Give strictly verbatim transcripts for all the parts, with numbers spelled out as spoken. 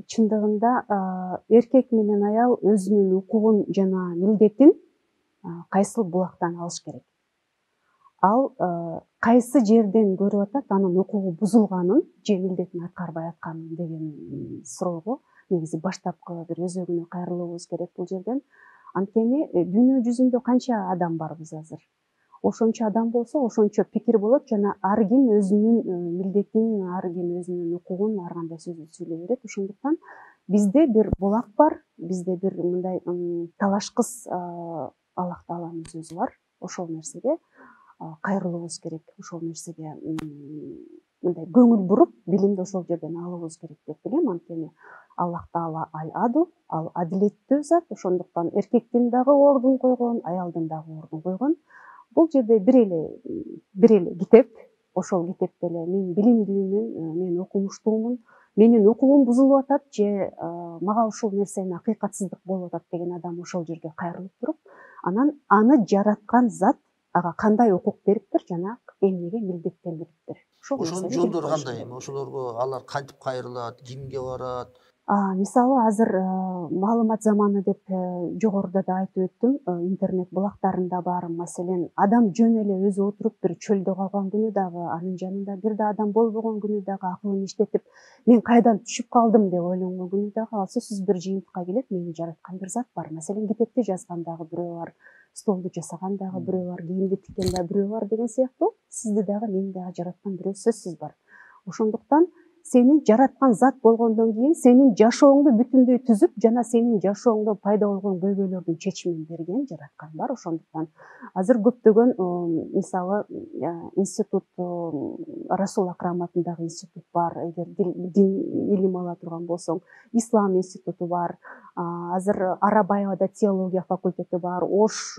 чындыгында эркек менен аял өзүнүн укугун жана милдетин кайсыл булактан алыш керек. Ал кайсы жерден көрүп атат анын укугу бузулганын же милдетин аткарбай атканын деген суроого негизи баштапкы бир өзөгүнө кайрылуубуз керек бул жерден. Анткени дүйнө жүзүндө канча адам барбыз азыр? Ошончо адам болсо, ошончо пикир болот жана ар ким өзүнүн милдетин, ар ким өзүнүн укугун ар кандай сөздү сүйлөй берет. Ошондуктан бизде бир булак бар, бизде бир мындай талашкыс Аллах Тааланын сөзү бар. Ошол нерсеге кайрылуубуз керек, ошол нерсеге мындай көңүл буруп, билимди ошол жерден алуубуз керек деп билем. Анткени Аллах Таала аль-Адл, ал адилеттүү зат. Ошондуктан эркектин дагы ордун койгон, аялдын дагы ордун койгон. Бул жерде бир эле бир эле китеп, ошол китепте эле мен билимдүүмүн, мен окумуштуумун, менин укугум бузулуп атат же мага ушул нерсенин акыйкатсыздык болуп атат деген адам ошол жерге кайрылып туруп, анан аны жараткан зат ага кандай укук бериптир жана эмнеге милдеттендириптир. Ошонун жолдору кандай? Ошолорго алар кантип кайрылат, кимге барат? Мисалы азыр маалымат заманы деп жогоруда да айтып өттүм, интернет булактарында бар. Маселен, адам жөн эле өзү отуруп бир чөлдө калган күнү дагы, анын жанында бир да адам болбогон күнү дагы акылын иштетип, мен кайдан түшүп калдым деп ойлонгон күнү дагы ал сөзсүз бир жыйынтыкка келет, мени жараткан бир зат бар. Маселен, китепти жазган дагы бирөө бар, столду жасаган дагы бирөө бар, кийимди тиккен дагы бирөө бар деген сыяктуу, сизди дагы мени дагы жараткан бирөө сөзсүз бар. Ошондуктан сени жараткан зат болгондон кийин сенин жашооңду бүтүндөй түзүп жана сенин жашооңдо пайда болгон көйгөйлөрдүн чечимин берген жараткан бар. Ошондуктан азыр көптөгөн мисалы институт, Расул Акрам атындагы институт бар, эгер дин илим ала турган болсоң, Ислам институту бар, азыр Арабаевада теология факультети бар, Ош,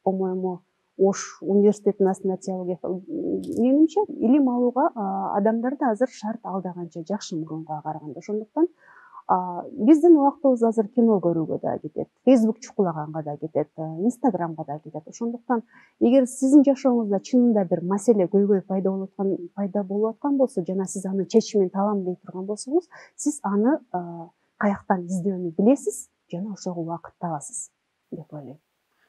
по-моему, Ош университетинин астында теология. Менимче, илим алууга адамдар да азыр шарт алдаганча жакшы мурункуга караганда. Ошондуктан биздин убактыбыз азыр кино көрүүгө да кетет, Facebook чукулаганга да кетет, Instagramга да кетет. Ошондуктан эгер сиздин жашооңузда чынында бир маселе, көйгөй пайда болуп аткан, пайда болуп аткан болсо жана сиз анын чечимин табам дей турган болсоңуз, сиз аны каяктан издөөнү билесиз жана ошого убакыт табасыз деп ойлойм.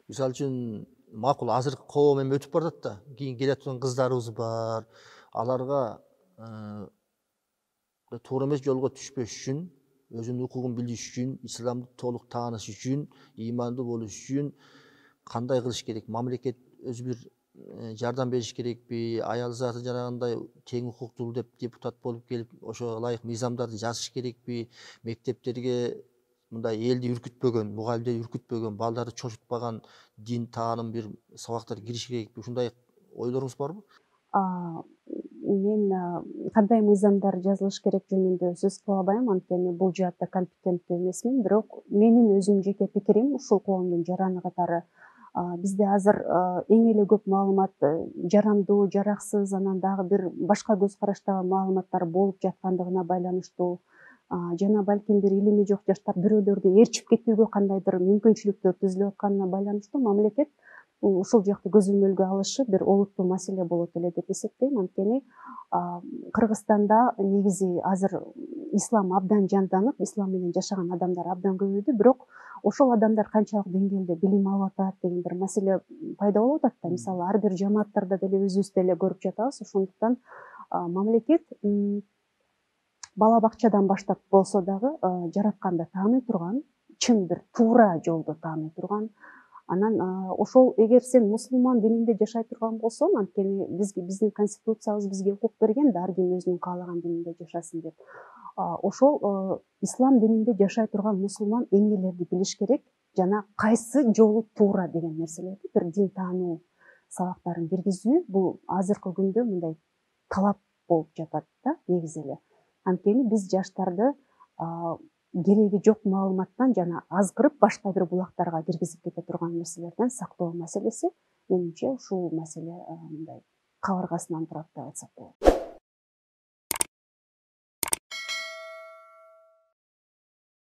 Мисалы үчүн макул азыркы коом эми өтүп баратат да, кийин келе аткан кыздарыбыз бар. Аларга туура эмес жолго түшпөш үчүн, өзүнүн укугун билиш үчүн, исламды толук тааныш үчүн, ыймандуу болуш үчүн кандай кылыш керек? Мамлекет өзү бир жардам бериш керекпи? Аял заты жанагындай тең укуктуу деп депутат болуп келип, ошого ылайык мыйзамдарды жазыш керекпи? Мектептерге мындай элди үркүтпөгөн, мугалимдерди үркүтпөгөн, балдарды чочутпаган дин тааным бир сабактар кириш керекпи? Ушундай ойлоруңуз барбы? Мен кандай мыйзамдар жазылыш керек жөнүндө сөз кыла албайм, анткени бул жаатта компетенттүү эмесмин. Бирок менин өзүмдүн жеке пикирим ушул коомдун жараны катары бизде азыр эң эле көп маалымат жарандуу, жараксыз, анан дагы бир башка көз караштагы маалыматтар болуп жаткандыгына байланыштуу жана балким бир илими жок жаштар бирөөлөрдү ээрчип кетүүгө кандайдыр мүмкүнчүлүктөр түзүлүп атканына байланыштуу мамлекет ушул жакты көзөмөлгө алышы бир олуттуу маселе болот эле деп эсептейм. Анткени Кыргызстанда негизи азыр ислам абдан жанданып, ислам менен жашаган адамдар абдан көбөйдү, бирок ошол адамдар канчалык деңгээлде билим алып атат деген бир маселе пайда болуп атат да. Мисалы, ар бир жамааттарда деле өзүбүз деле көрүп жатабыз. Ошондуктан мамлекет бала бакчадан баштап болсо дагы жаратканды тааный турган, чын бир туура жолду тааный турган, анан ошол эгер сен мусулман дининде жашай турган болсоң, анткени бизге биздин конституциябыз бизге укук берген да, ар ким өзүнүн каалаган дининде жашасын деп. Ошол ислам дининде жашай турган мусулман эмнелерди билиш керек жана кайсы жолу туура деген нерселерди бир дин таануу сабактарын киргизүү бул азыркы күндө мындай талап болуп жатат да, негизи эле. Анткени биз жаштарды кереги жок маалыматтан жана азгырып башка бир булактарга киргизип кете турган нерселерден сактоо маселеси менимче ушул маселе мындай кабыргасынан турат деп айтсак болот.